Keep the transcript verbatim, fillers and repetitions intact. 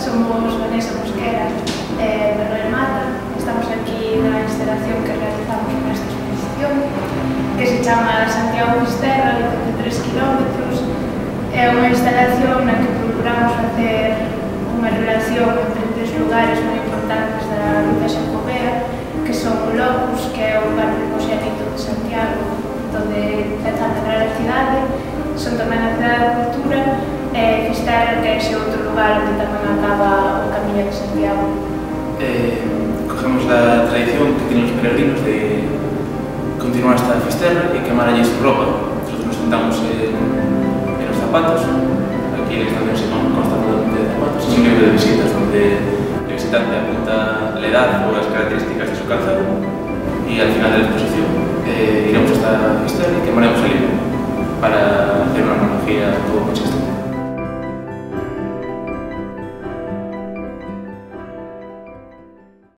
somos Vanessa Mosquera e Manuel Mata. Estamos aquí na instalación que realizamos nesta exposición, que se chama Santiago Fisterra, de tres kilómetros. É unha instalación na que procuramos facer unha relación entre tres lugares moi importantes da Ruta Xacobea, que son o Locus, que é o lugar primogénito de Santiago, onde empeza a medrar a cidade, son tamén a cidade da cultura, e Fisterra, que é ese outro lugar onde tamén acaba o Camiño de Santiago. Eh, cogemos a tradición que tienen os peregrinos de continuar hasta Fisterra e quemaralles su ropa. Nosotros nos sentamos en, en los zapatos. Aquí en esta estación se consta totalmente de zapatos. Es un libro de visitas donde el visitante apunta la edad o las características de su calzado, y al final de la exposición eh, iremos hasta Fisterra y quemaremos el libro.